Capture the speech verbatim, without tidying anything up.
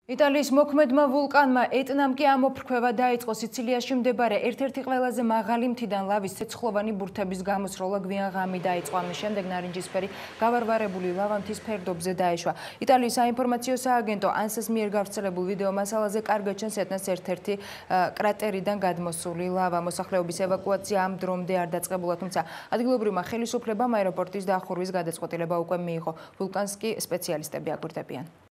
იტალიის მოქმედმა ვულკანმა ეტნამ კი ამოფრქვევა დაიწყო სიცილიაში მდებარე ერთ-ერთი ყველაზე მაღალი მთიდან ლავის ცეცხლოვანი ბურთების გამოსროლა გვიან ღამი დაიწყო. ამის შემდეგ ნარინჯისფერი გავარვარებული ლავა მთის ფერდობზე დაეშვა. იტალიის საინფორმაციო სააგენტო ანსას მიერ გავრცელებულ ვიდეო მასალაზე კარგად ჩანს ეტნას ერთ-ერთი კრატერიდან გადმოსული ლავა. მოსახლეობის ევაკუაცია ამ დრომდე არ დაწყებულა, თუმცა ადგილობრივმა ხელისუფლებამ აეროპორტის დახურვის გადაწყვეტილება უკვე მიიღო. ვულკანს კი სპეციალისტები აკვირდებიან.